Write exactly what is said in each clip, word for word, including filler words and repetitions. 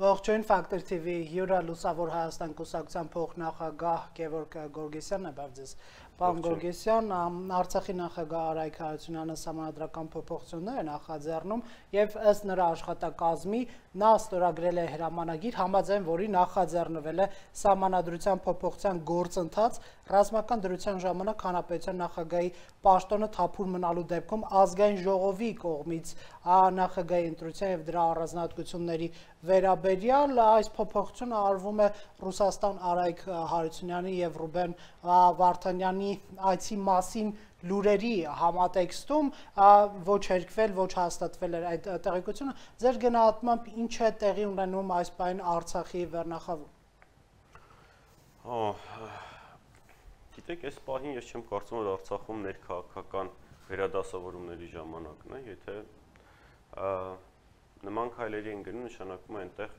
Ողջույն Factor T V հյուրը Լուսավոր Հայաստան կուսակցության փոխնախագահ Գևորգ Գորգեսյանն է, բավ ձեզ։ Պարոն Գորգեսյան, Արցախի նախագահ Արայք Հարությունյանը սահմանադրական փոփոխություններ է նախաձեռնում եւ ըստ նրա աշխատակազմի նա ստորագրել է հրամանագիր, համաձայն որի նախաձեռնվել է սահմանադրության փոփոխության գործընթաց ռազմական դրության ժամանակ հանրապետության նախագահի պաշտոնը թափուր մնալու դեպքում ազգային ժողովի կողմից նախագահի ընտրության եւ դրա առանձնահատկությունների վերաբերյալ այս փոփոխությունը արվում է Ռուսաստան Արայք Հարությունյանի եւ Ռուբեն Վարդանյանի այցի մասին լուրերի համատեքստում ոչ հերկվել, ոչ հաստատվել էր այդ տեղեկությունը։ Ձեր գնահատմամբ ինչ է տեղի ունենում այս բան Արցախի վերնախավում։ Գիտեք, այս պահին ես չեմ կարծում, որ Արցախում ներքաղաքական վերադասավորումների ժամանակն է, եթե նման քայլերի են գնում, նշանակում է այնտեղ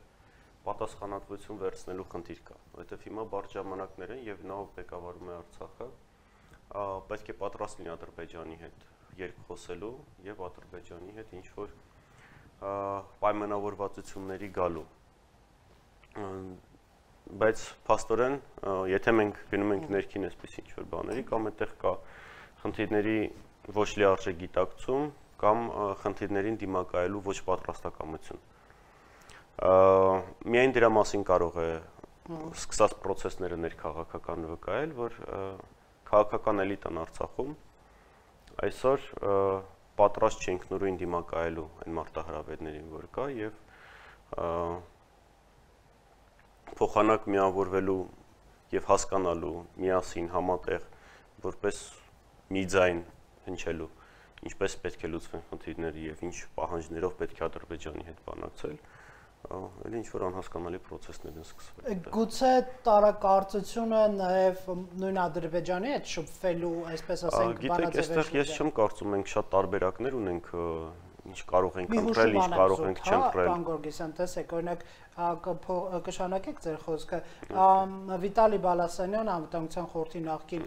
պատասխանատվություն վերցնելու խնդիր կա, որովհետև հիմա բարդ ժամանակներ են եւ նա ով ղեկավարում է Արցախը, պետք է պատրաստ լինի Ադրբեջանի հետ երկխոսելու եւ Ադրբեջանի հետ ինչ որ պայմանավորվածությունների գալու։ Բայց փաստորեն, եթե մենք գնում ենք ներքին այսպես ինչ որ բաների, կամ այդտեղ կա խնդիրների ոչ լիարժեք գիտակցում, կամ խնդիրներին դիմակայելու ոչ պատրաստակամություն։ Միայն դրա մասին կարող է սկսած process-ները ներքաղաքական վկայել, որ քաղաքական էլիտան Արցախում այսօր պատրաստ չենք նորույն դիմակայելու այն մարտահրավերներին, որ կա, եւ փոխանակ միավորվելու եւ հասկանալու միասին համատեղ որպես մի ձայն հնչելու ինչպես պետք է լուծվեն խնդիրները եւ ինչ պահանջներով պետք է Ադրբեջանի հետ բանակցել, էլի ինչ որ անհասկանալի process-ներ են սկսվել։ Գուցե տարակարծությունը նաեւ նույն Ադրբեջանի հետ շփվելու, այսպես ասենք, բանաձևեր։ Գիտեք, այստեղ ես չեմ կարծում, մենք շատ տարբերակներ ունենք, ինչ կարող ենք ընտրել, ինչ կարող ենք չընտրել։ Պարոն Գորգեսյան, տեսեք, օրինակ կշանակեք ձեր խոսքը, Վիտալի Բալասանյան անվտանգության խորհրդի նախկին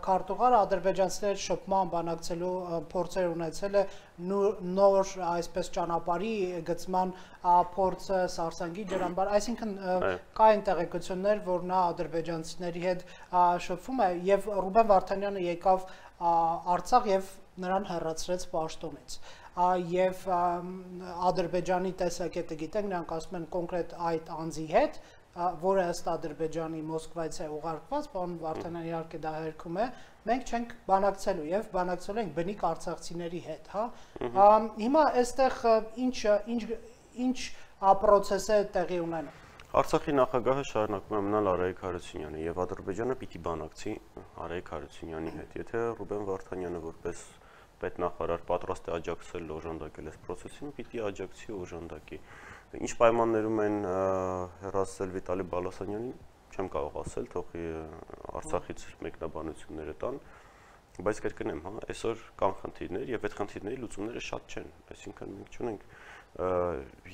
քարտուղար ադրբեջանցիների շփման բանակցելու փորձեր ունեցել է նոր այսպես ճանապարհի գծման փորձը Սարսանգի ջրամբար, այսինքն կային տեղեկություններ, որ նա ադրբեջանցիների հետ շփվում է եւ Ռուբեն Վարդանյանը եկավ Արցախ եւ նրան հեռացրեց պաշտոնից եւ Ադրբեջանի տեսակետը գիտենք, նրանք ասում են կոնկրետ այդ անձի հետ, որը ըստ Ադրբեջանի Մոսկվայից է ուղարկված, պարոն Վարդանյանը իհարկե դա հերքում է, մենք չենք բանակցելու եւ բանակցելու ենք բնիկ արցախցիների հետ, հա։ Հիմա այստեղ ինչ ինչ ինչ process է տեղի ունենում։ Արցախի նախագահը շարունակում է մնալ Արայք Հարությունյանը եւ Ադրբեջանը պիտի բանակցի Արայք Հարությունյանի հետ, եթե Ռուբեն Վարդանյանը որպես պետնախարար պատրաստ է աջակցել օժանդակել այս process-ին, պիտի աջակցի օժանդակի։ Ինչ պայմաններում են հեռացել Վիտալի Բալասանյանին, չեմ կարող ասել, թող Արցախից մեկնաբանությունները տան, բայց կրկնեմ, հա, այսօր կան խնդիրներ եւ այդ խնդիրների լուծումները շատ չեն, այսինքն մենք չունենք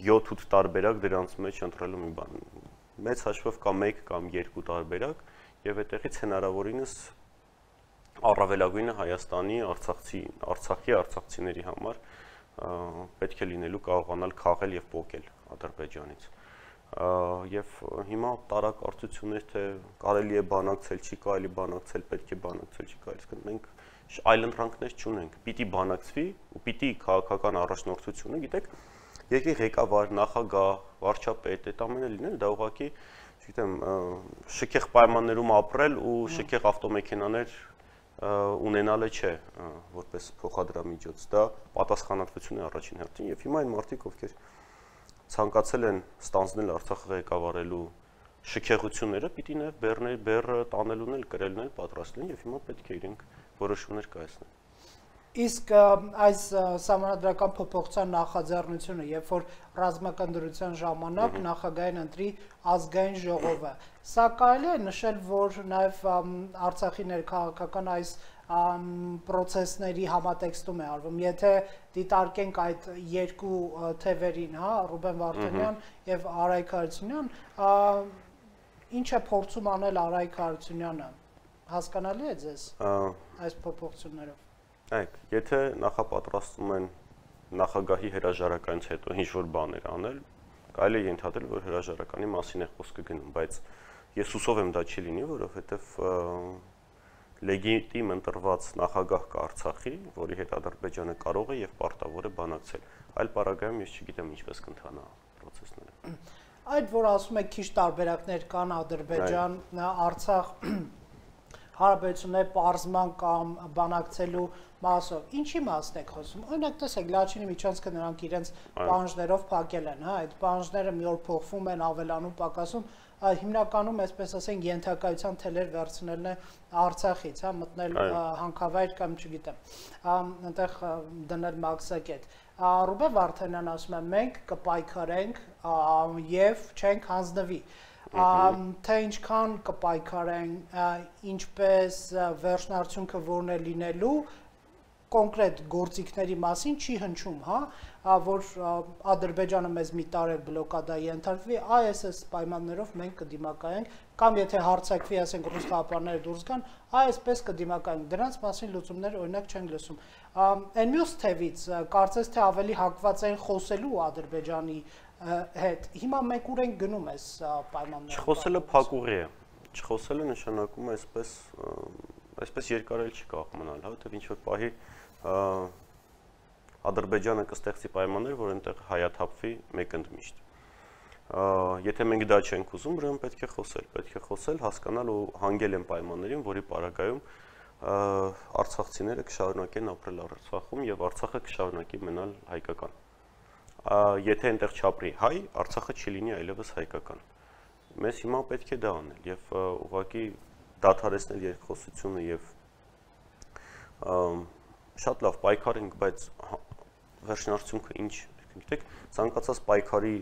յոթ-ութ տարբերակ դրանց մեջ ընտրելու մի բան։ Մեծ հաշվով կա մեկ կամ երկու տարբերակ եւ այդտեղից հնարավորինս առավելագույնը Հայաստանի, Արցախցի, Արցախի արցախցիների համար պետք է լինելու կարողանալ քաղել եւ փոկել Ադրբեջանից։ Եվ հիմա տարակարծություններ, թե կարելի է բանակցել, չի կարելի բանակցել, պետք է բանակցել, չի կարելի, մենք այլընտրանքներ չունենք։ Պիտի բանակցվի ու պիտի քաղաքական առաջնորդությունը, գիտեք, երկրի ղեկավար, նախագահ, վարչապետ, այդ ամենը լինել, դա ուղղակի, չգիտեմ, շքեղ պայմաններում ապրել ու շքեղ ավտոմեքենաներ ունենալը չէ, որպես փոխադրամիջոց, դա պատասխանատվություն է առաջին հերթին եւ հիմա այն մարդիկ, ովքեր ցանկացել են ստանձնել Արցախը ղեկավարելու շքեղությունները, պիտի նաեւ բեռներ, բեռը տանելուն էլ կրելն էլ պատրաստ լինեն եւ հիմա պետք է իրենք որոշումներ կայացնեն։ Իսկ այս սահմանադրական փոփոխության նախաձեռնությունը, երբ որ ռազմական դրության ժամանակ նախագահային ընտրի ազգային ժողովը, սա կարելի է նշել, որ նաև Արցախի ներքաղաքական այս process-ների համատեքստում է արվում, եթե դիտարկենք այդ երկու թևերին, հա, Ռուբեն Վարդանյան եւ Արայք Հարությունյան, ինչ է փորձում անել Արայք Հարությունյանը։ Հասկանալի է ձեզ այս փոփոխություններով։ Այք, եթե նախապատրաստում են նախագահի հրաժարականից հետո ինչ-որ բաներ անել, կարելի է ենթադրել, որ հրաժարականի մասին է խոսքը գնում, բայց ես հուսով եմ դա չի լինի, որովհետև լեգիտիմ ընտրված նախագահ կա Արցախի, որի հետ Ադրբեջանը կարող է եւ պարտավոր է բանակցել։ Այլ պարագայում ես չգիտեմ ինչպես կընթանա process-ները։ Այդ որ ասում եք քիչ տարբերակներ կան Ադրբեջան, Արցախ հարաբերությունների պարզման կամ բանակցելու մասով, ինչի մասն եք խոսում։ Օրինակ տեսեք, Լաչինի միջանցքը նրանք իրենց պահանջներով փակել են, հա, այդ պահանջները մի օր փոխվում են, ավելանում, պակասում, հիմնականում, այսպես ասենք, ենթակայության թելեր վերցնելն է Արցախից, հա, մտնել հանքավայր կամ չգիտեմ, այնտեղ դնել մաքսակետ։ Ռուբեն Վարդանյանն ասում է, մենք կպայքարենք եւ չենք հանձնվի։ Թե ինչքան կպայքարեն, ինչպես վերջնարդյունքը որն է լինելու, կոնկրետ գործիքների մասին չի հնչում, հա, որ Ադրբեջանը մեզ մի տարի բլոկադայի ենթարկվի, այս այս պայմաններով մենք կդիմակայենք, կամ եթե հարձակվի, ասենք ռուս խաղապարները դուրս գան, այսպես կդիմակայենք, դրանց մասին լուծումներ օրինակ չենք լսում։ Այն մյուս թևից, կարծես թե ավելի հակված են խոսելու Ադրբեջանի հետ, հիմա մենք ուր ենք գնում այս պայմանները։ Չխոսելը փակուղի է, չխոսելը նշանակում է այսպես, այսպես երկար էլ չի կարող մնալ, հա, որտեղ ինչ-որ պահի Ադրբեջանը կստեղծի պայմաններ, որ այնտեղ հայաթափվի մեկ ընդմիշտ։ Եթե մենք դա չենք ուզում, ուրեմն պետք է խոսել, պետք է խոսել, հասկանալ ու հանգել են պայմաններին, որի պարագայում արցախցիները կշարունակեն ապրել Արցախում եւ Արցախը կշարունակի մնալ հայկական։ Եթե այնտեղ չապրի հայ, Արցախը չի լինի այլևս հայկական։ Մեզ հիմա պետք է դա անել եւ ուղղակի դադարեցնել երկխոսությունը եւ շատ լավ պայքարենք, բայց վերջնարդյունքը ինչ, գիտեք, ցանկացած պայքարի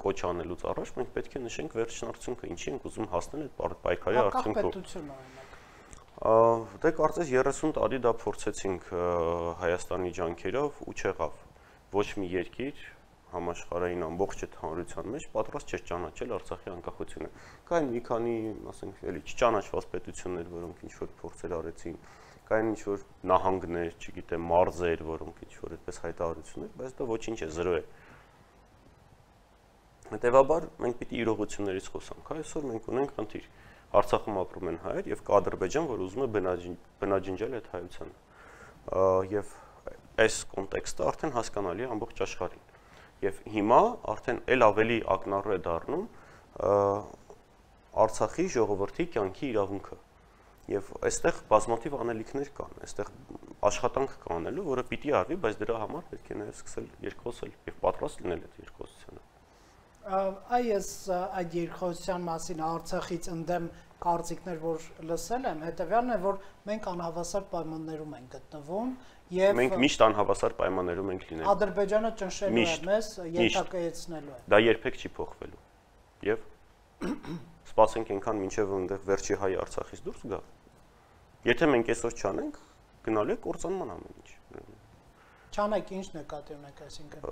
կոչ անելուց առաջ մենք պետք է նշենք վերջնարդյունքը, ինչի ենք ուզում հասնել այդ պայքարի արդյունքով։ Դե կարծես երեսուն տարի դա փորձեցինք Հայաստանի ջանքերով ու չեղավ։ Ոչ մի երկիր համաշխարհային ամբողջ հանրության մեջ պատրաստ չէր ճանաչել Արցախի անկախությունը։ Կային մի քանի, ասենք, էլի չճանաչված պետություններ, որոնք ինչ-որ փորձեր արեցին, կային ինչ-որ նահանգներ, չգիտեմ, մարզեր, որոնք ինչ-որ այդպես հայտարարություններ, բայց դա ոչինչ է, զրո է։ Հետևաբար մենք պիտի իրողություններից խոսանք, այսօր մենք ունենք խնդիր։ Արցախում ապրում են հայեր եւ կա Ադրբեջան, որ ուզում է բնաջնջել այդ հայությանը։ Եվ այս կոնտեքստը արդեն հասկանալի է ամբողջ աշխարհին։ Եվ հիմա արդեն էլ ավելի ակնառու է դառնում Արցախի ժողովրդի կյանքի իրավունքը։ Եվ այստեղ բազմաթիվ անելիքներ կան, այստեղ աշխատանք կա անելու, որը պիտի արվի, բայց դրա համար պետք է նաև սկսել երկխոսել եւ պատրաստ լինել այդ երկխոսությանը։ Այս այդ երկխոսության մասին Արցախից ընդդեմ կարծիքներ, որ լսել եմ, հետեւյալն է, որ մենք անհավասար պայմաններում ենք գտնվում եւ մենք միշտ անհավասար պայմաններում ենք լինելու։ Ադրբեջանը ճնշելու է մեզ, ենթակայեցնելու է։ Դա երբեք չի փոխվելու։ Եվ սպասենք այնքան մինչև այնտեղ վերջի հայ Արցախից դուրս գա։ Եթե մենք այսօր չանենք, գնալու է կործանման ամեն ինչ։ Չանեք, ինչ նկատի ունեք, այսինքն։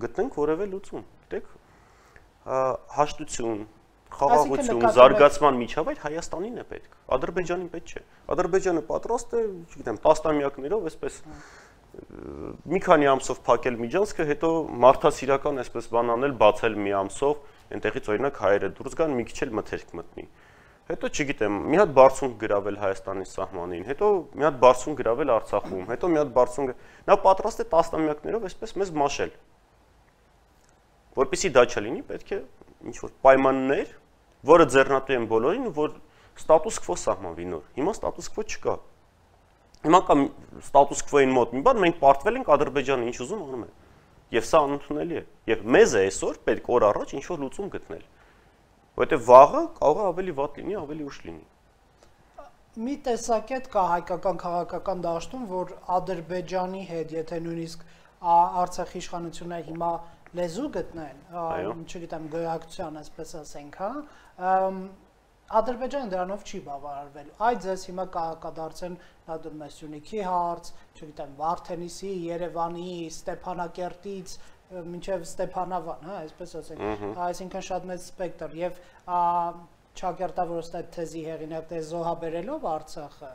Գտնենք որևէ լուծում։ Գիտեք, հաշտություն, խաղաղություն, զարգացման միջավայր Հայաստանին է պետք, Ադրբեջանին պետք չէ։ Ադրբեջանը պատրաստ է, չգիտեմ, տասնամյակներով այսպես մի քանի ամսով փակել միջանցքը, հետո մարդասիրական այսպես բան անել, բացել մի ամսով, այնտեղից օրինակ հայերը դուրս գան, մի քիչ էլ մթերք մտնի։ Հետո չգիտեմ, մի հատ բարձունք գրավել Հայաստանի սահմանին, հետո մի հատ բարձունք գրավել Արցախում, հետո մի հատ բարձունք, նա պատրաստ է տասնամյակներով այսպես մեզ մաշել։ Որպեսզի դա չլինի, պետք է ինչ-որ պայմաններ, որը ձեռնատու են բոլորին, որ ստատուս քվո սահմանվի նոր։ Հիմա ստատուս քվո չկա։ Հիմա կա ստատուս քվոյին մոտ մի բան, մենք պարտվել ենք Ադրբեջանը ինչ ուզում անում է։ Եվ սա անընդունելի է։ Եվ մեզ է այսօր պետք օր առաջ ինչ-որ լուծում գտնել։ Որտեղ վաղը կարող է ավելի վատ լինի, ավելի ուշ լինի։ Մի տեսակետ կա հայկական քաղաքական դաշտում, որ Ադրբեջանի հետ, եթե նույնիսկ Արցախի իշխանությունները հիմա լեզու գտնեն, չգիտեմ, գոյակցության, այսպես ասենք, հա, Ադրբեջանը դրանով չի բավարարվելու։ Այդ ձեզ հիմա կդարձեն Նադուրմեսյունիքի հարց, չգիտեմ, Վարդենիսի, Երևանի, Ստեփանակերտից մինչև Ստեփանավան, հա, այսպես ասենք, այսինքն շատ մեծ սպեկտր եւ չակերտավորած այդ թեզի հեղինակ դե զոհաբերելով Արցախը,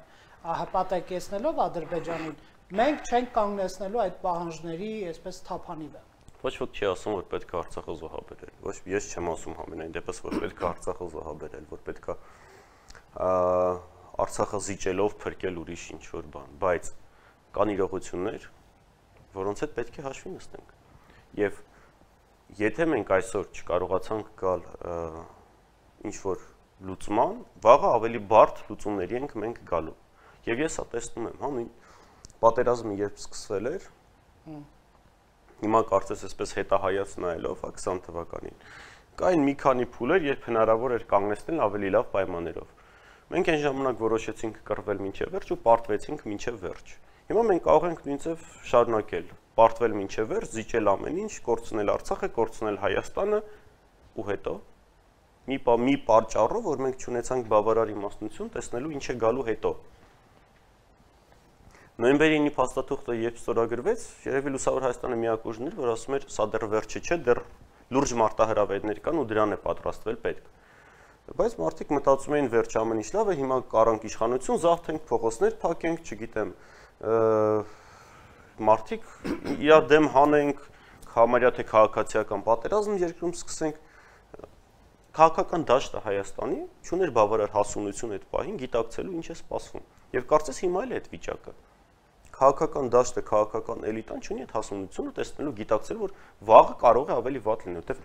հպատակեցնելով Ադրբեջանին, մենք չենք կանգնեցնելու այդ պահանջների այսպես թափանիվը։ Ոչ ոք չի ասում, որ պետք է Արցախը զոհաբերել։ Ոչ ես չեմ ասում համենայն դեպս, որ պետք է Արցախը զոհաբերել, որ պետք է Արցախը զիջելով փրկել ուրիշ ինչ-որ բան, բայց կան իրողություններ, որոնց հետ պետք է հաշվի նստենք։ Եվ եթե մենք այսօր չկարողացանք գալ ինչ-որ լուծման, վաղը ավելի բարդ լուծումների ենք մենք գալու։ Եվ ես հա տեսնում եմ, հա, պատերազմը երբ սկսվել էր, հիմա կարծես այսպես հետահայաց նայելով քսան թվականին, կային մի քանի փուլեր, երբ հնարավոր էր կանգնեցնել ավելի լավ պայմաններով։ Մենք այն ժամանակ որոշեցինք կռվել մինչև վերջ ու պարտվեցինք մինչև վերջ։ Հիմա մենք կարող ենք նույնիսկ շարունակել, պարտվել մինչև վերջ, զիջել ամեն ինչ, կորցնել Արցախը, կորցնել Հայաստանը ու հետո մի մի պատճառով, որ մենք չունեցանք բավարար իմաստնություն տեսնելու ինչ է գալու հետո։ Նոյեմբերի ինը փաստաթուղթը երբ ստորագրվեց, երևի Լուսավոր Հայաստանը միակ ուժն էր, որ ասում էր, սա դեռ վերջը չէ, դեռ լուրջ մարտահրավերներ կան ու դրան է պատրաստվել պետք։ Բայց մարդիկ մտածում էին վերջ ամեն ինչ լավ է, հիմա կարանք իշխանություն, զավթենք, փողոցներ փակենք, չգիտեմ, մարդիկ իր դեմ հանենք, համարյա թե քաղաքացիական պատերազմ երկրում սկսենք։ Քաղաքական դաշտը Հայաստանի չուներ բավարար հասունություն այդ պահին գիտակցելու ինչ է սպասվում։ Եվ կարծես հիմա էլ է այդ վիճակը։ Քաղաքական դաշտը, քաղաքական էլիտան չունի այդ հասունությունը տեսնելու, գիտակցելու, որ վաղը կարող է ավելի վատ լինել, որտեղ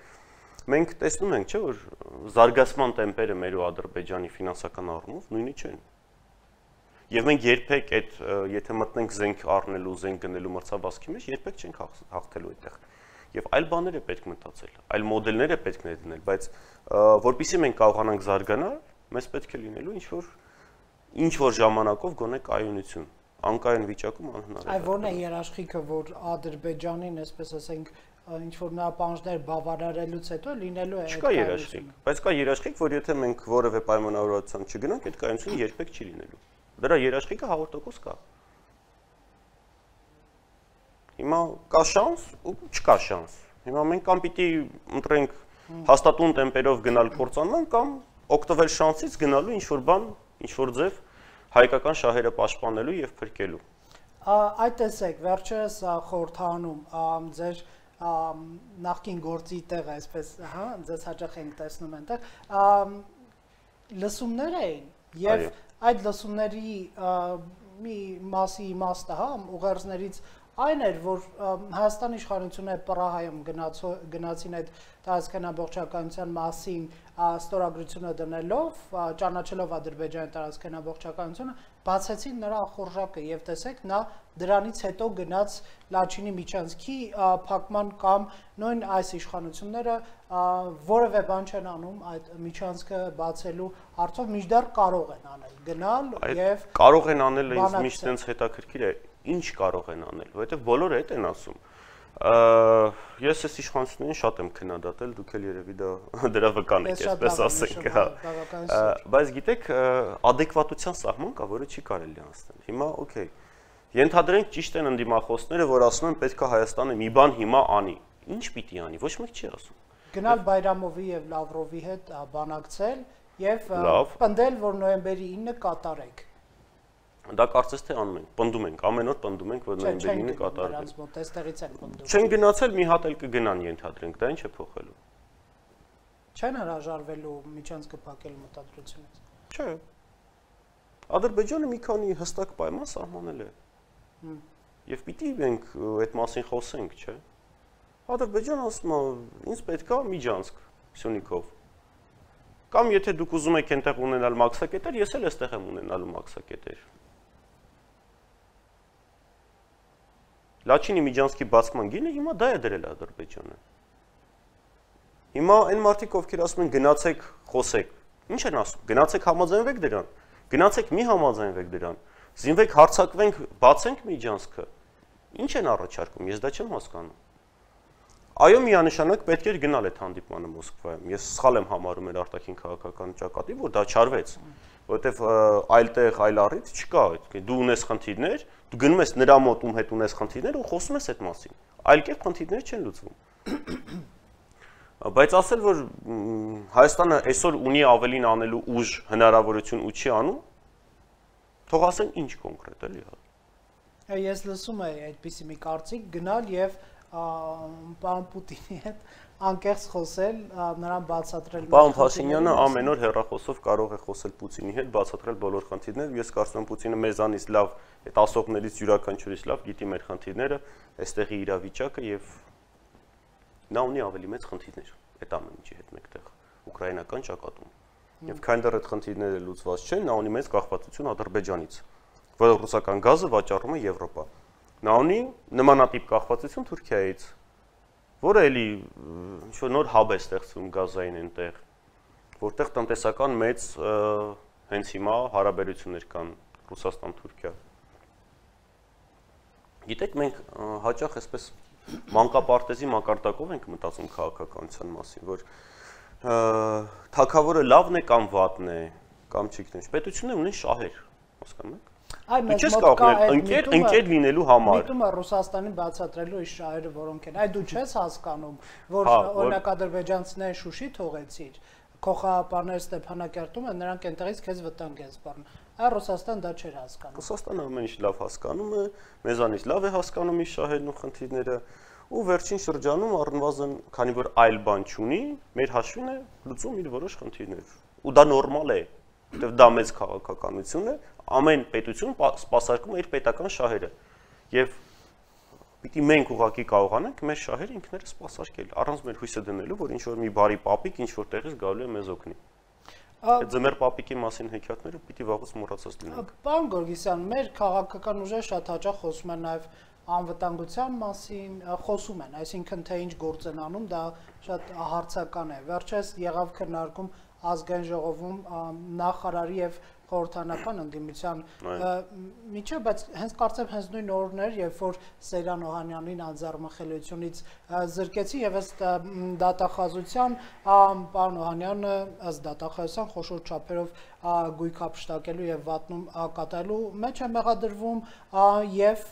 մենք տեսնում ենք, չէ, որ զարգացման տեմպերը մեր ու Ադրբեջանի ֆինանսական առումով նույնի չեն։ Եվ մենք երբեք այդ, եթե մտնենք զենք առնելու, զենք գնելու մրցավազքի մեջ, երբեք չենք հաղթելու այդտեղ։ Եվ այլ բաներ է պետք մտածել, այլ մոդելներ է պետք ներդնել, բայց որpիսի մենք կարողանանք զարգանալ, մեզ պետք է լինելու ինչ-որ ինչ-որ ժամանակով գոնե կայունություն, անկայուն վիճակում անհնար է։ Այ ո՞րն է երաշխիքը, որ Ադրբեջանին, այսպես ասենք, ինչ-որ նրա պահանջներ բավարարելուց հետո լինելու է այդ կայունություն։ Չկա երաշխիք, բայց կա երաշխիք, որ եթե մենք որևէ պայմանավորվածության չգնանք, այդ կայունությունը երբեք չի լինելու։ Դրա երաշխիքը հազար տոկոս կա։ Հիմա կա շանս ու չկա շանս։ Հիմա մենք կամ պիտի ընտրենք հաստատուն տեմպերով գնալ կործանման, կամ օգտվել շանսից գնալու ինչ-որ բան, ինչ-որ ձև հայկական շահերը պաշտպանելու եւ փրկելու։ Այդ տեսեք, վերջերս խորհրդանում ձեր նախկին գործի տեղը, այսպես, հա, ձեզ հաճախ ենք տեսնում այնտեղ, լսումներ էին եւ այդ լսումների մի մասի իմաստը, հա, ուղերձներից այն էր, որ Հայաստանի իշխանությունը Պրահայում գնացին այդ տարածքանաբողջականության մասին ստորագրությունը դնելով, ճանաչելով Ադրբեջանի տարածքանաբողջականությունը, բացեցին նրա ախորժակը եւ տեսեք, նա դրանից հետո գնաց Լաչինի միջանցքի փակման կամ նույն այս իշխանությունները որևէ բան չեն անում այդ միջանցքը բացելու հարցով, մինչդեռ կարող են անել, գնալ եւ կարող են անել, ինձ միշտ այնց հետաքրքիր է, ինչ կարող են անել, որովհետեւ բոլորը այդ են ասում։ Ես այս իշխանություններին շատ եմ քննադատել, դուք էլ երևի դա դրա վկան եք, այսպես ասենք, հա։ Բայց գիտեք, adekvatության սահման կա, որը չի կարելի անցնել։ Հիմա, օքեյ։ Ենթադրենք ճիշտ են ընդդիմախոսները, որ ասում են պետք է Հայաստանը մի բան հիմա անի։ Ինչ պիտի անի, ոչ մեկ չի ասում։ Գնալ Բայրամովի եւ Լավրովի հետ բանակցել եւ պնդել, որ նոյեմբերի ինը կատարեք։ Դա կարծես թե անում ենք, պնդում ենք, ամեն օր պնդում ենք, որ նոյեմբերի ինը կատարվի։ Նրանց մոտ էստեղից են պնդում։ Չեն գնացել, մի հատ էլ կգնան ենթադրենք, դա ինչ է փոխելու։ Չեն հրաժարվելու միջանցքը փակելու մտադրությունից։ Չէ։ Ադրբեջանը մի քանի հստակ պայման սահմանել է։ Եվ պիտի մենք այդ մասին խոսենք, չէ։ Ադրբեջանը ասում է, ինձ պետք է միջանցք Սյունիքով։ Կամ եթե դուք ուզում եք այնտեղ ունենալ մաքսակետեր, ես էլ այստեղ եմ ունենալու մաքսակետեր։ Լաչինի միջանցքի բացման գինը հիմա դա է դրել Ադրբեջանը։ Հիմա այն մարդիկ, ովքեր ասում են գնացեք, խոսեք, ինչ են ասում, գնացեք համաձայնվեք դրան, գնացեք մի համաձայնվեք դրան, զինվեք, հարձակվենք, բացենք միջանցքը։ Ինչ են առաջարկում, ես դա չեմ հասկանում։ Այո, միանշանակ պետք էր գնալ այդ հանդիպմանը Մոսկվայում։ Ես սխալ եմ համարում էր արտաքին քաղաքական ճակատի, որ դա չարվեց, որովհետև այլտեղ այլ առիթ չկա, դու ունես խնդիրներ, դու գնում ես նրա մոտ ում հետ ունես խնդիրներ ու խոսում ես այդ մասին։ Այլ կերպ խնդիրները չեն լուծվում։ Բայց ասել, որ Հայաստանը այսօր ունի ավելին անելու ուժ, հնարավորություն ու չի անում, թող ասեն ինչ կոնկրետ էլի։ Ես լսում եմ այդպիսի մի կարծիք գնալ եւ պարոն Պուտինի հետ անկեղծ խոսել, նրան բացատրել։ Պարոն Փաշինյանը ամեն օր հեռախոսով կարող է խոսել Պուտինի հետ, բացատրել բոլոր խնդիրները։ Ես կարծում եմ Պուտինը մեզանից լավ, այդ ասողներից յուրաքանչյուրից լավ գիտի մեր խնդիրները, այստեղի իրավիճակը եւ նա ունի ավելի մեծ խնդիրներ այդ ամեն ինչի հետ մեկտեղ ուկրաինական ճակատում։ Եվ քանի այդ խնդիրները լուծված չեն, նա ունի մեծ կախվածություն Ադրբեջանից, որը ռուսական գազը վաճառում է Եվրոպա։ Նա ունի նմանատիպ կախվածություն Թուրքիայից, որը էլի ինչ-որ նոր հաբ է ստեղծվում գազային այնտեղ, որտեղ տնտեսական մեծ հենց հիմա հարաբերություններ կան Ռուսաստան-Թուրքիա։ Գիտեք, մենք հաճախ այսպես մանկապարտեզի մակարդակով ենք մտածում քաղաքականության մասին, որ թագավորը լավն է կամ վատն է, կամ չգիտեմ, պետությունները ունեն շահեր, հասկանում եք։ Այ մեզ մոտ կա ընկեր ընկեր լինելու համար։ Միտում է Ռուսաստանին բացատրելու իր շահերը, որոնք են։ Այ դու չես հասկանում, որ օրինակ ադրբեջանցիները Շուշի թողեցիր, քո խաղապարները Ստեփանակերտում են, նրանք այնտեղից քեզ վտանգ են սպառնում։ Այ Ռուսաստան դա չէր հասկանում։ Ռուսաստանը ամեն ինչ լավ հասկանում է, մեզանից լավ է հասկանում իր շահերն ու խնդիրները, ու վերջին շրջանում առնվազն, քանի որ այլ բան չունի, մեր հաշվին է լուծում իր որոշ խնդիրներ։ Ու դա նորմալ է, որտեղ դա մեծ քաղաքականություն է, ամեն պետություն սպասարկում է իր պետական շահերը։ Եվ պիտի մենք ուղղակի կարողանանք մեր շահերը ինքներս սպասարկել, առանց մեր հույսը դնելու, որ ինչ-որ մի բարի պապիկ ինչ-որ տեղից գալու է մեզ օգնի։ Այդ ձմեռ պապիկի մասին հեքիաթները պիտի վաղուց մոռացած լինենք։ Պարոն Գորգիսյան, մեր քաղաքական ուժերը շատ հաճախ խոսում են նաև անվտանգության մասին, խոսում են, այսինքն թե ինչ գործ են անում, դա շատ հարցական է։ Վերջերս եղավ քննարկում ազգային ժողովում նախարարի եւ խորհրդանական ընդդիմության միջև, բայց հենց կարծեմ հենց նույն օրներ, երբ որ Սերյան Օհանյանին անձեռնմխելիությունից զրկեցի եւ ըստ դատախազության պարոն Օհանյանը ըստ դատախազության խոշոր չափերով գույք հափշտակելու եւ վատնում կատարելու մեջ է մեղադրվում եւ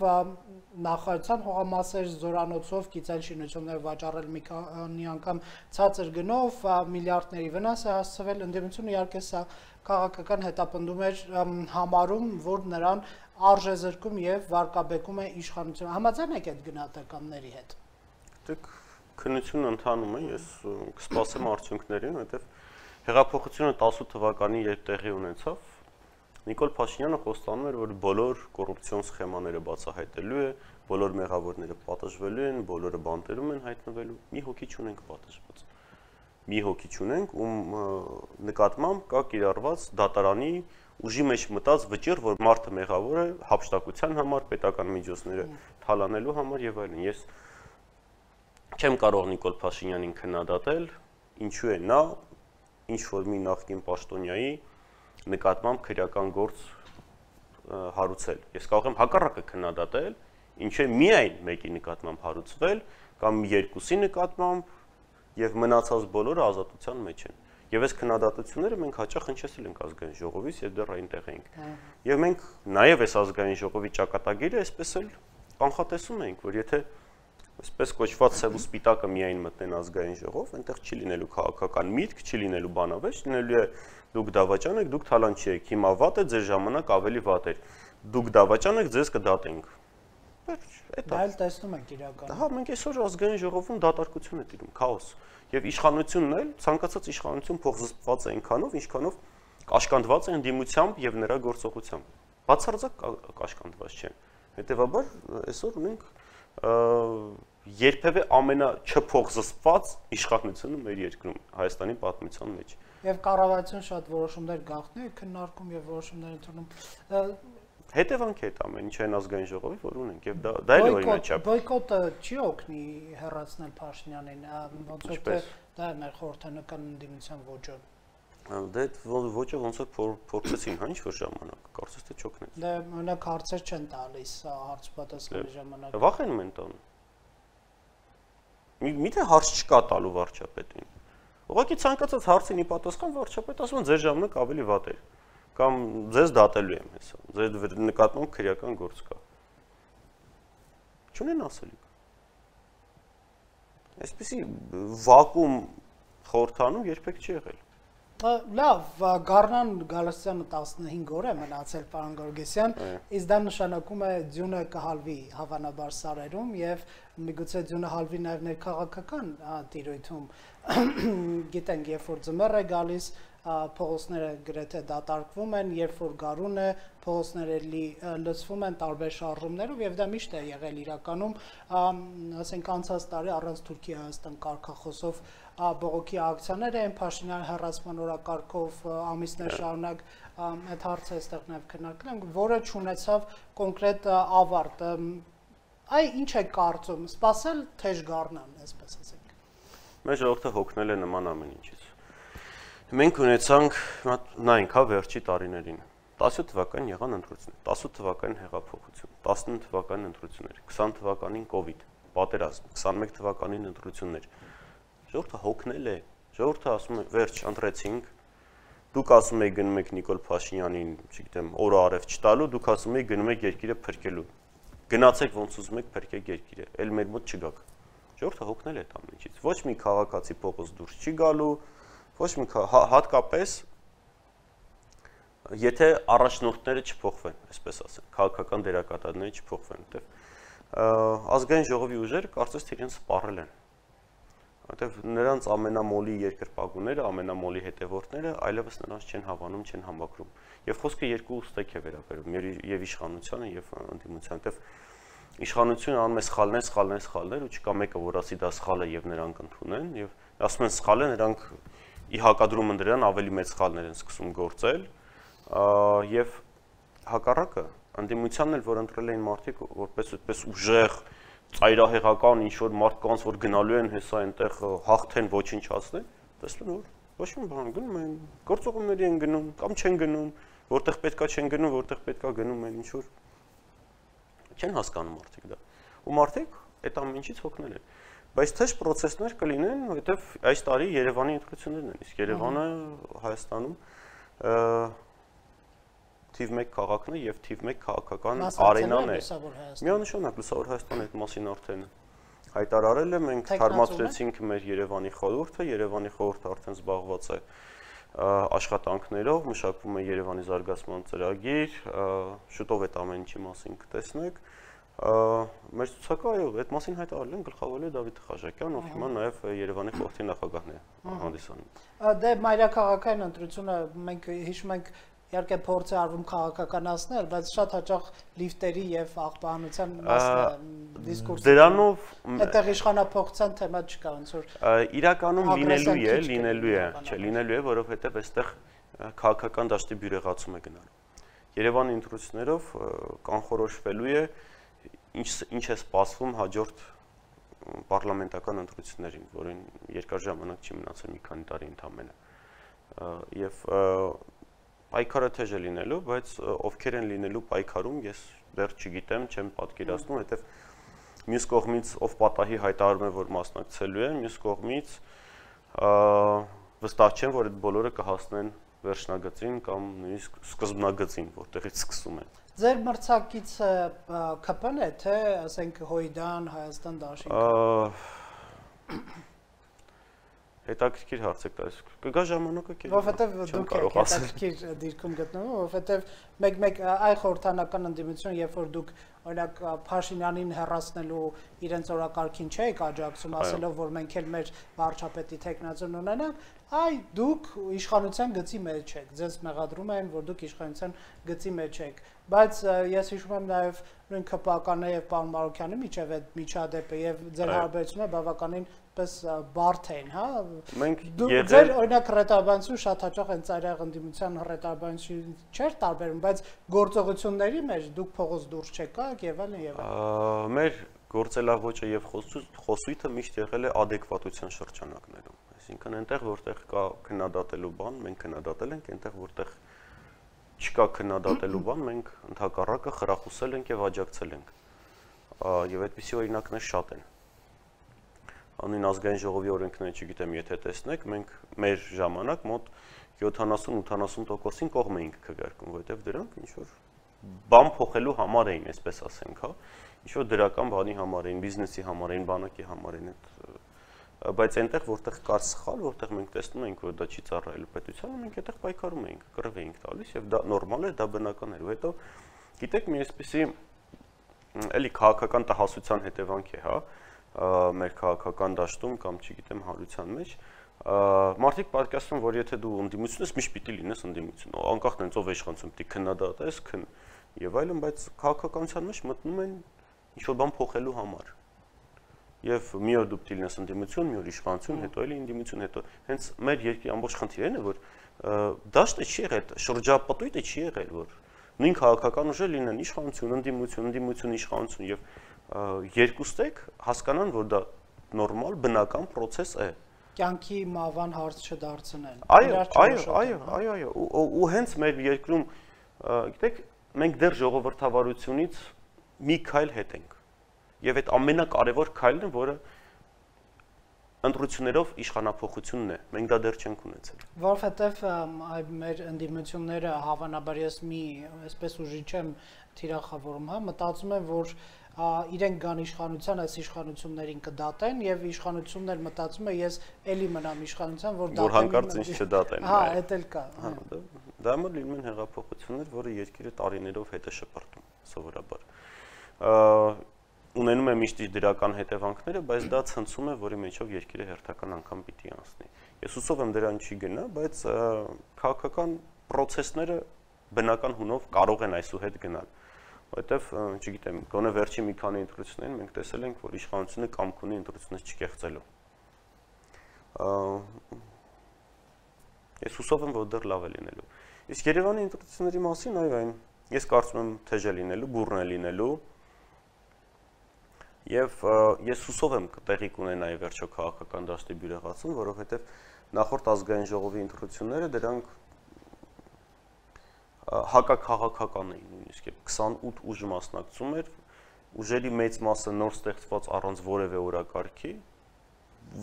նախարարության հողամասեր զորանոցով գիծել շինություններ վաճառել մի քանի անգամ ցածր գնով միլիարդների վնաս է հասցվել ընդդիմությունը իհարկե սա քաղաքական հետապնդում էր համարում, որ նրան արժեզրկում եւ վարկաբեկում է իշխանությունը։ Համաձայն եք այդ գնահատականների հետ։ Դուք քննությունը ընթանում է, ես կսպասեմ արդյունքներին, որովհետեւ հեղափոխությունը տասը թվականին երբ տեղի ունեցավ, Նիկոլ Փաշինյանը խոստանում էր, որ բոլոր կոռուպցիոն սխեմաները բացահայտելու է, բոլոր մեղավորները պատժվելու են, բոլորը բանտերում են հայտնվելու, մի հոգի չունենք պատժված։ Մի հոգի չունենք, ում նկատմամբ կա կիրառված դատարանի ուժի մեջ մտած վճիռ, որ մարդը մեղավոր է հափշտակության համար, պետական միջոցները թալանելու համար եւ այլն։ Ես չեմ կարող Նիկոլ Փաշինյանին քննադատել, ինչու է նա ինչ որ մի նախկին պաշտոնյայի նկատմամբ քրեական գործ հարուցել։ Ես կարող եմ հակառակը քննադատել, ինչու է միայն մեկի նկատմամբ հարուցվել կամ երկուսի նկատմամբ եւ մնացած բոլորը ազատության մեջ են։ Եվ այս քննադատությունները մենք հաճախ հնչեցել ենք ազգային ժողովից եւ դեռ այնտեղ ենք։ Եվ մենք նաեւ այս ազգային ժողովի ճակատագիրը այսպես էլ կանխատեսում ենք, որ եթե այսպես կոչված սև ու սպիտակը միայն մտնեն ազգային ժողով, այնտեղ չի լինելու քաղաքական միտք, չի լինելու բանավեճ, լինելու է դուք դավաճան եք, դուք թալանչի եք, հիմա վատ է, ձեր ժամանակ ավելի վատ էր։ Դուք դավաճան եք, ձեզ կդատենք։ Դա էլ տեսնում ենք իրականում։ Հա, մենք այսօր ազգային ժողովում դատարկություն է տիրում, քաոս։ Եվ իշխանությունն էլ, ցանկացած իշխանություն փոխզսպված է այնքանով, ինչքանով կաշկանդված է ընդդիմությամբ եւ նրա գործողությամբ։ Բացարձակ կաշկանդված չեն։ Հետևաբար այսօր ունենք երբևէ ամենաչփոխզսպված իշխանությունը մեր երկրում, Հայաստանի պատմության մեջ։ Եվ կառավարություն շատ որոշումներ գաղտնի է քննարկում եւ որոշումներ ընդունում։ Հետևանք է այդ ամեն ինչը այն ազգային ժողովի, որ ունենք եւ դա դա էլ օրինաչափ։ Բոյկոտը չի օգնի հեռացնել Փաշինյանին, ոնց որ դա է մեր խորհրդանական ընդդիմության ոճը։ Դե ոճը ոնց որ փորձեցին հա ինչ-որ ժամանակ, կարծես թե չօգնեց։ Դե մենակ հարցեր չեն տալիս հարց պատասխանի ժամանակ։ Վախենում են տան։ Միթե հարց չկա տալու վարչապետին։ Ուղղակի ցանկացած հարցին ի պատասխան վարչապետը ասում է ձեր ժամանակ ավելի վատ է կամ ձեզ դատելու եմ հեսա, ձեր նկատմամբ քրեական գործ կա։ Չունեն ասելիք։ Այսպեսի վակուում խորհրդանում երբեք չի եղել։ Լավ, Գառնան Գալստյանը տասնհինգ օր է մնացել, պարոն Գորգեսյան, իսկ դա նշանակում է ձյունը կհալվի հավանաբար սարերում եւ միգուցե ձյունը հալվի նաեւ ներքաղաքական տիրույթում։ Գիտենք, երբ որ ձմեռ է գալիս, փողոցները գրեթե դատարկվում են, երբ որ գարուն է, փողոցները լցվում են տարբեր շարժումներով եւ դա միշտ է եղել իրականում, ասենք անցած տարի առանց Թուրքիա-Հայաստան կարգախոսով բողոքի ակցիաներ են, Փաշինյանի հեռացման օրակարգով ամիսներ շարունակ այդ հարցը այստեղ նաեւ քննարկել ենք, որը չունեցավ կոնկրետ ավարտ։ Այ ինչ է կարծում, սпасել թեժ Գառնան, այսպես ասենք։ Մեր ժողովուրդը հոգնել է նման ամեն ինչից։ Մենք ունեցանք, նայենք հա վերջի տարիներին, տասը թվականին եղան ընտրություններ, տասը թվականին հեղափոխություն, տասնինը թվականին ընտրություններ, քսան թվականին կովիդ, պատերազմ, քսանմեկ թվականին ընտրություններ։ Ժողովուրդը հոգնել է, ժողովուրդը ասում է վերջ ընտրեցինք, դուք ասում եք գնում եք Նիկոլ Փաշինյանին, չգիտեմ, օրը արև չտալու, դուք ասում եք գնում եք երկիրը փրկելու։ Գնացեք ոնց ուզում եք փրկեք երկիրը, էլ մեր մոտ չգաք։ Ժողովուրդը հոգնել է այդ ամենից։ Ոչ մի քաղաքացի փողոց դուրս չի գալու, ոչ մի հատկապես եթե առաջնորդները չփոխվեն, այսպես ասեմ, քաղաքական դերակատարները չփոխվեն, որտեղ ազգային ժողովի ուժերը կարծես թե իրենց սպառել են։ Որտեղ նրանց ամենամոլի երկրպագուները, ամենամոլի հետևորդները այլևս նրանց չեն հավանում, չեն համակրում։ Եվ խոսքը երկու ուստեք է վերաբերում, եւ իշխանությանը եւ ընդդիմությանը, որտեղ իշխանությունը անում է սխալներ, սխալներ, սխալներ, ու չկա մեկը, որ ասի դա սխալ է եւ նրանք ընդունեն, եւ ասում են սխալ է, նրանք ի հակադրում դրան ավելի մեծ սխալներ են սկսում գործել, եւ հակառակը ընդդիմությանն էլ որ ընտրել էին մարդիկ որպես այդպես ուժեղ ծայրահեղական ինչ որ մարդկանց որ գնալու են հեսա այնտեղ հաղթեն ոչնչացնեն, տեսնում որ ոչ մի բան գնում են, գործողությունների են գնում կամ չեն գնում, որտեղ պետքա չեն գնում, որտեղ պետքա գնում են ինչ որ չեն հասկանում մարդիկ դա։ Ու մարդիկ այդ ամեն ինչից հոգնել են։ Բայց թեժ process-ներ կլինեն, որովհետև այս տարի Երևանի ընտրություններն են, իսկ Երևանը Հայաստանում թիվ մեկ քաղաքն է եւ թիվ մեկ քաղաքական արենան է։ Միանշանակ Լուսավոր Հայաստանը այդ մասին արդեն հայտարարել է, մենք թարմացրեցինք մեր Երևանի խորհուրդը, Երևանի խորհուրդը արդեն զբաղված է աշխատանքներով, մշակվում է Երևանի զարգացման ծրագիր, շուտով այդ ամեն ինչի մասին կտեսնեք։ Մեր ցուցակը այո, այդ մասին հայտարարել են գլխավորել է Դավիթ Խաչատյան, ով հիմա նաև Երևանի խորհրդի նախագահն է հանդիսանում։ Դե մայրաքաղաքային ընտրությունը մենք հիշում ենք իհարկե փորձ է արվում քաղաքականացնել, բայց շատ հաճախ լիֆտերի եւ աղբահանության մասն է դիսկուրսը։ Դրանով այդտեղ իշխանափոխության թեմա չկա ոնց որ իրականում լինելու է, լինելու է, չէ, լինելու է, որովհետեւ այստեղ քաղաքական դաշտի բյուրեղացում է գնալու։ Երևանի ընտրություններով կանխորոշվելու է ինչ ինչ է սպասվում հաջորդ պարլամենտական ընտրություններին, որին երկար ժամանակ չի մնացել մի քանի տարի ընդամենը։ Եվ պայքարը թեժ է լինելու, բայց ովքեր են լինելու պայքարում, ես դեռ չգիտեմ, չեմ պատկերացնում, որովհետև մյուս կողմից ով պատահի հայտարարում է, որ մասնակցելու են, մյուս կողմից վստահ չեմ, որ այդ բոլորը կհասնեն վերջնագծին կամ նույնիսկ սկզբնագծին, որտեղից սկսում են։ Ձեր մրցակիցը K P-ն է, թե ասենք Հույդան, Հայաստան Դաշինքը։ Հետաքրքիր հարց եք տալիս։ Կգա ժամանակը կերպ։ Որովհետև դուք եք հետաքրքիր դիրքում գտնվում, որովհետև մեկ-մեկ այ խորհրդանական ընդդիմություն, երբ որ դուք օրինակ Փաշինյանին հեռացնելու իրենց օրակարգին չեք աջակցում, ասելով որ մենք էլ մեր վարչապետի տեխնազոն ունենանք, այ դուք իշխանության գծի մեջ եք, ձեզ մեղադրում են, որ դուք իշխանության գծի մեջ եք, բայց ես հիշում եմ նաև նույն K P-ականն եւ պարոն Մարուկյանի միջև այդ միջադեպը եւ ձեր հարաբերությունը բավականին պես բարդ են, հա։ Մենք ձեր օրինակ հռետորաբանություն շատ հաճախ են ծայրահեղ ընդդիմության հռետորաբանություն չէր տարբերում, բայց գործողությունների մեջ դուք փողոց դուրս չեկաք եւ այլն եւ այլն։ Մեր գործելավոճը եւ խոսույթը միշտ եղել է adekvatության շրջանակներում, այսինքն այնտեղ որտեղ կա քննադատելու բան, մենք քննադատել ենք, այնտեղ որտեղ չկա քննադատելու բան, մենք ընդհակառակը խրախուսել ենք եւ աջակցել ենք։ Եվ այդպիսի օրինակներ շատ են։ Անուն ազգային ժողովի օրենքները, չգիտեմ, եթե տեսնեք, մենք մեր ժամանակ մոտ յոթանասուն-ութանասուն տոկոսին կողմ էինք քվեարկում, որովհետև դրանք ինչ որ բան փոխելու համար էին, այսպես ասենք, հա, ինչ որ դրական բանի համար էին, բիզնեսի համար էին, բանակի համար էին, այդ բայց այնտեղ որտեղ կար սխալ, որտեղ մենք տեսնում ենք, որ դա չի ծառայելու պետությանը, մենք այդտեղ պայքարում էինք, կռվ էինք տալիս եւ դա նորմալ էր, դա բնական էր։ Ու հետո գիտեք, մի այսպիսի էլի քաղաքական տհասության հետևանք է, հա, մեր քաղաքական դաշտում կամ չգիտեմ հարության մեջ մարդիկ պատկերացնում, որ եթե դու ընդդիմություն ես, միշտ պիտի լինես ընդդիմություն, անկախ նրանից ով իշխանություն պիտի քննադատես, քն եւ այլն, բայց քաղաքականության մեջ մտնում են ինչ-որ բան փոխելու համար։ Եվ մի օր դու պիտի լինես ընդդիմություն, մի օր իշխանություն, հետո էլի ընդդիմություն, հետո հենց մեր երկրի ամբողջ խնդիրն է, որ դաշտը չի եղել, շրջապատույտը չի եղել, որ նույն քաղաքական ուժը լինեն իշխանություն, ընդդիմություն, ընդդիմություն, իշխանություն եւ երկուստեք հասկանան, որ դա նորմալ բնական process է։ Կյանքի մավան հարց չդարձնեն։ Այո, այո, այո, այո, այո, ու հենց մեր երկրում, գիտեք, մենք դեռ ժողովրդավարությունից մի քայլ հետ ենք։ Եվ այդ ամենակարևոր քայլն է, որը ընտրություններով իշխանափոխությունն է։ Մենք դա դեռ չենք ունեցել։ Որովհետև այ մեր ընդդիմությունները հավանաբար ես մի այսպես ուժի չեմ թիրախավորում, հա, մտածում եմ, որ իրենք գան իշխանության, այս իշխանություններին կդատեն եւ իշխանությունն էլ մտածում է ես էլի մնամ իշխանության, որ դատեն։ Որ հանկարծ ինձ չդատեն։ Հա, դա էլ կա։ Հա, դա մոտ լինում են հեղափոխություններ, որը երկիրը տարիներով հետ է շպրտում, սովորաբար։ Ունենում է միշտ իր դրական հետևանքները, բայց դա ցնցում է, որի մեջով երկիրը հերթական անգամ պիտի անցնի։ Ես հուսով եմ դրան չի գնա, բայց քաղաքական process-ները բնական հունով կարող են այսուհետ գնալ։ Որովհետև, չգիտեմ, գոնե վերջի մի քանի ընտրություններին մենք տեսել ենք, որ իշխանությունը կամք ունի ընտրությունից չկեղծելու։ Ես հուսով եմ, որ դեռ լավ է լինելու։ Իսկ Երևանի ընտրությունների մասին, այո, այն ես կարծում եմ թեժ է լինելու, բուռն է լինելու։ Եվ ես հուսով եմ տեղի կունենայի վերջո քաղաքական դաշտի բյուրեղացում, որովհետև նախորդ ազգային ժողովի ընտրությունները դրանք հակաքաղաքական էին նույնիսկ, քսանութ ուժ մասնակցում էր, ուժերի մեծ մասը նոր ստեղծված առանց որևէ օրակարգի,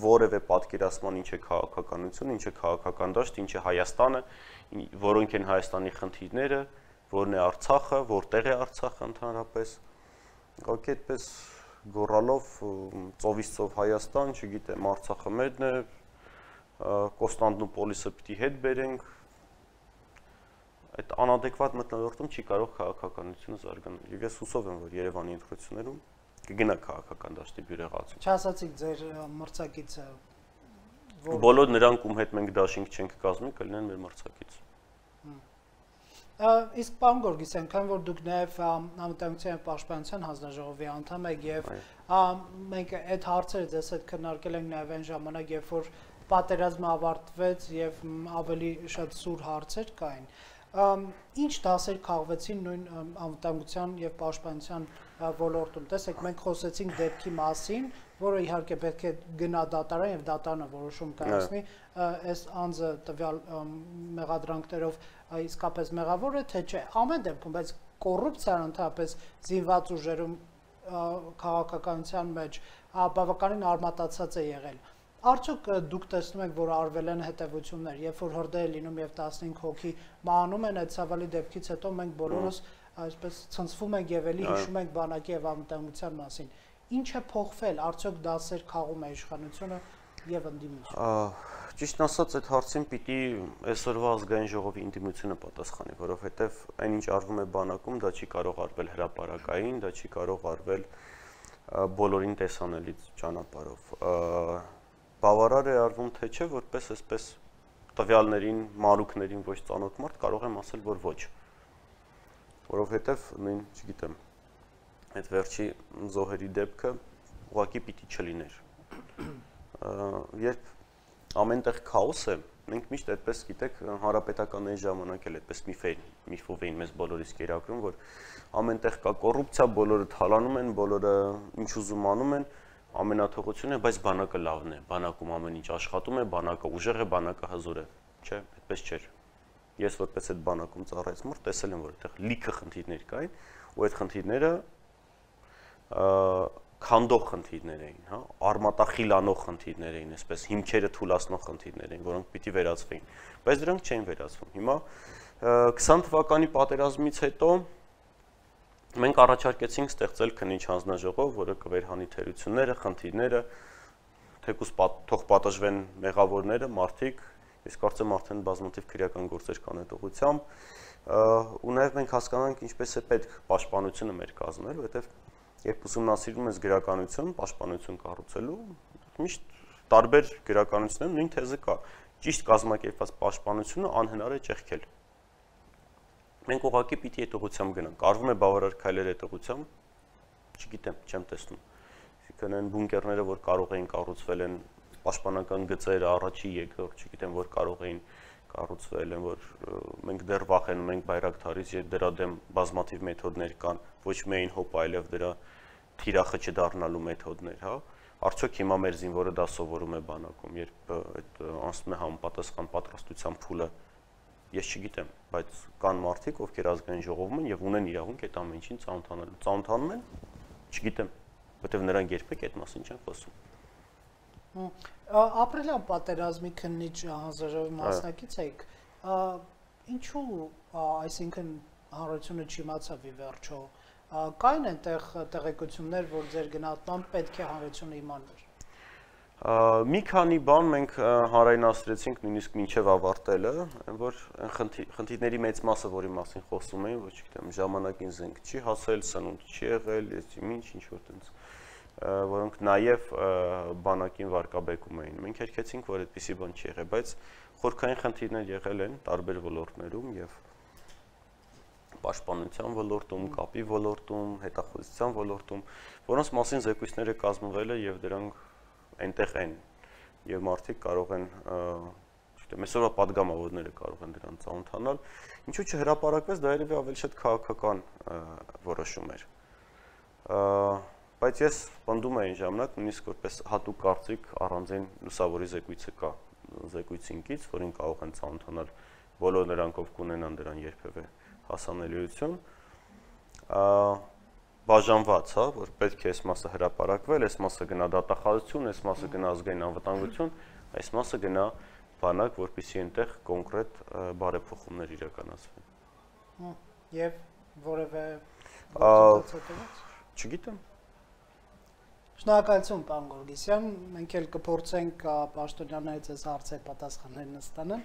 որևէ պատկերացման ինչ է քաղաքականություն, ինչ է քաղաքական դաշտ, ինչ է Հայաստանը, որոնք են Հայաստանի խնդիրները, որն է Արցախը, որտեղ է Արցախը ընդհանրապես, ուղղակի այդպես գոռալով ծովից ծով Հայաստան, չգիտեմ, Արցախը մերն է, Կոստանդնուպոլիսը պիտի հետ բերենք, այդ անադեկվատ մթնոլորտում չի կարող քաղաքականությունը զարգանալ։ Եվ ես հուսով եմ, որ Երևանի ընտրություններում կգնա քաղաքական դաշտի բյուրեղացում։ Չասացիք ձեր մրցակիցը, որ բոլոր նրանք, ում հետ մենք դաշինք չենք կազմի, կլինեն մեր մրցակից։ Իսկ պարոն Գորգիսյան, քանի որ դուք նաև Անվտանգության և Պաշտպանության հանձնաժողովի անդամ եք եւ մենք այդ հարցերը ձեզ հետ քննարկել ենք նաև այն ժամանակ, երբ որ պատերազմը ավարտվեց եւ ավելի շատ սուր հարցեր կային, ինչ դասեր քաղվեցին նույն անվտանգության եւ պաշտպանության ոլորտում։ Տեսեք, մենք խոսեցինք դեպքի մասին, որը իհարկե պետք է գնա դատարան եւ դատարանը որոշում կայացնի, այս անձը տվյալ մեղադրանքներով իսկապես մեղավոր է թե չէ։ Ամեն դեպքում, բայց կոռուպցիան ընդհանրապես զինված ուժերում քաղաքականության մեջ բավականին արմատացած է եղել։ Արդյոք դուք տեսնում եք, որ արվել են հետևություններ, երբ որ հրդեհ է լինում եւ տասնհինգ հոգի մահանում են, այդ ցավալի դեպքից հետո մենք բոլորս այսպես ցնցվում ենք եւ էլի հիշում ենք բանակի եւ անվտանգության մասին։ Ինչ է փոխվել, արդյոք դասեր քաղում է իշխանությունը եւ ընդդիմությունը։ Ճիշտն ասած, այդ հարցին պիտի այսօրվա ազգային ժողովի ընդդիմությունը պատասխանի, որովհետեւ այնինչ արվում է բանակում, դա չի կարող արվել հրապարակային, դա չի կարող արվել բոլորին տեսանելի ճանապարհով։ Բավարար է արվում թե չէ, որպես այսպես տվյալներին, մանրուքներին ոչ ծանոթ մարդ կարող եմ ասել, որ ոչ։ Որովհետև նույն, չգիտեմ, այդ վերջի զոհերի դեպքը ուղղակի պիտի չլիներ։ Երբ ամենտեղ քաոս է, մենք միշտ այդպես, գիտեք, հանրապետական այն ժամանակ էլ այդպես միֆով էին մեզ բոլորիս կերակրում, որ ամենտեղ կա կոռուպցիա, բոլորը թալանում են, բոլորը ինչ ուզում անում են, ամենաթողությունը, բայց բանակը լավն է, բանակում ամեն ինչ աշխատում է, բանակը ուժեղ է, բանակը հզոր է, չէ, այդպես չէր։ Ես որպես այդ բանակում ծառայած մարդ տեսել եմ, որ այդտեղ լիքը խնդիրներ կային, ու այդ խնդիրները քանդող խնդիրներ էին, հա, արմատախիլանող խնդիրներ էին, այսպես հիմքերը թուլացնող խնդիրներ էին, որոնք պիտի վերացվեին, բայց դրանք չէին վերացվում։ Հիմա քսան թվականի պատերազմից հետո մենք առաջարկեցինք ստեղծել քննիչ հանձնաժողով, որը կվերհանի թերությունները, խնդիրները, թեկուզ թող պատժվեն մեղավորները, մարդիկ, ես կարծեմ արդեն բազմաթիվ քրեական գործեր կան այդ ուղղությամբ, ու նաև մենք հասկանանք ինչպես է պետք պաշտպանությունը մեր կազմել, որովհետև երբ ուսումնասիրում ես գրականություն, պաշտպանություն կառուցելու, միշտ տարբեր գրականություններում նույն թեզը կա, ճիշտ կազմակերպված պաշտպանությունը անհնար է ճեղքել։ Մենք ուղղակի պիտի այդ ուղղությամբ գնանք, արվում է բավարար քայլեր այդ ուղղությամբ, չգիտեմ, չեմ տեսնում։ Այսինքն այն բունկերները, որ կարող էին կառուցվել են պաշտպանական գծերը, առաջի, երկրորդ, չգիտեմ, որ կարող էին կառուցվել են, որ մենք դեռ վախենում ենք Բայրակթարից, եւ դրա դեմ բազմաթիվ մեթոդներ կան, ոչ միայն հոպ, այլև դրա թիրախը չդառնալու մեթոդներ, հա։ Արդյոք հիմա մեր զինվորը դա սովորում է բանակում, երբ այդ անցնում է համապատասխան պատրաստության փուլը, ես չգիտեմ, բայց կան մարդիկ, ովքեր ազգային ժողովում են եւ ունեն իրավունք այդ ամեն ինչին ծանոթանալու։ Ծանոթանում են, չգիտեմ, որտեվ նրանք երբեք այդ մասին չեն խոսում։ Ապրիլյան պատերազմի քննիչ հանձնաժողովի մասնակից եք, ինչու, այսինքն հանրությունը չիմացավ ի վերջո, կային այնտեղ տեղեկություններ, որ ձեր գնահատմամբ պետք է հանրությունը իմանար։ Մի քանի բան մենք հանրայնացրեցինք նույնիսկ մինչև ավարտելը, որ խնդիրների մեծ մասը, որի մասին խոսում էին, ոչ գիտեմ, ժամանակին զենք չի հասել, սնունդ չի եղել, ինչ ինչ-որ տենց, որոնք նաև բանակին վարկաբեկում էին։ Մենք երգեցինք, որ այդպիսի բան չի եղել, բայց խորքային խնդիրներ եղել են տարբեր ոլորտներում եւ պաշտպանության ոլորտում, կապի ոլորտում, հետախուզության ոլորտում, որոնց մասին զեկույցները կազմվել է եւ դրանք այնտեղ են եւ մարդիկ կարող են, չգիտեմ, այսօրվա падգամավորները կարող են դրան ծանոթանալ, ինչու՞ չհրապարակվեց, դա երևի ավելի շատ քաղաքական որոշում էր։ Բայց ես պնդում եմ այն ժամանակ, նույնիսկ որպես հատուկ կարծիք առանձին լուսավորի զեկույցը կա, զեկույցինքից, որին կարող են ծանոթանալ բոլոր նրանք, ովքեր ունենան դրան երբևէ հասանելիություն, բաժանված, հա, որ պետք է այս մասը հրապարակվել, այս մասը գնա դատախազություն, այս մասը գնա ազգային անվտանգություն, այս մասը գնա բանակ, որպեսզի այնտեղ կոնկրետ բարեփոխումներ իրականացվեն։ Եվ որևէ գործընթաց։ Չգիտեմ։ Շնորհակալություն, պարոն Գորգիսյան, մենք էլ կփորձենք պաշտոնյաներից այս հարցերի պատասխաններն ստանալ։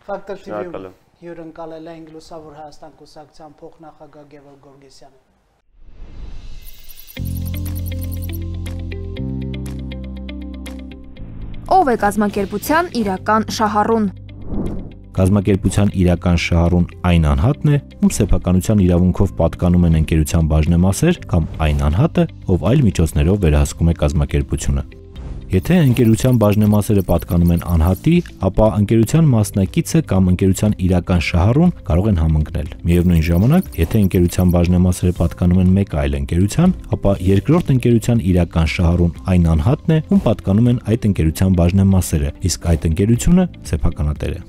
Ֆակտոր թի վի հյուրընկալել ենք Լուսավոր Հայաստան կուսակցության փոխնախագահ Գևորգ Գորգիսյանը։ Ով է կազմակերպության իրական շահառուն։ Կազմակերպության իրական շահառուն այն անհատն է, ում սեփականության իրավունքով պատկանում են ընկերության բաժնեմասեր կամ այն անհատը, ով այլ միջոցներով վերահսկում է կազմակերպությունը։ Եթե ընկերության բաժնեմասերը պատկանում են անհատի, ապա ընկերության մասնակիցը կամ ընկերության իրական շահառուն կարող են համընկնել։ Միևնույն ժամանակ, եթե ընկերության բաժնեմասերը պատկանում են մեկ այլ ընկերության, ապա երկրորդ ընկերության իրական շահառուն այն անհատն է, ում պատկանում են այդ ընկերության բաժնեմասերը, իսկ այդ ընկերությունը սեփականատեր է։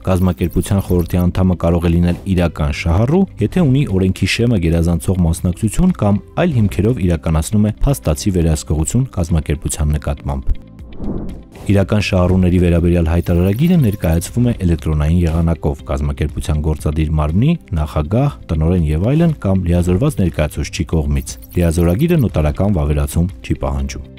Կազմակերպության խորհրդի անդամը կարող է լինել իրական շահառու, եթե ունի օրենքի շեմը գերազանցող մասնակցություն կամ այլ հիմքերով իրականացնում է փաստացի վերահսկողություն կազմակերպության նկատմամբ։ Իրական շահառուների վերաբերյալ հայտարարագիրը ներկայացվում է էլեկտրոնային եղանակով կազմակերպության գործադիր մարմնի, նախագահ, տնօրեն եւ այլն կամ լիազորված ներկայացուցչի կողմից։ Լիազորագիրը նոտարական վավերացում չի պահանջում։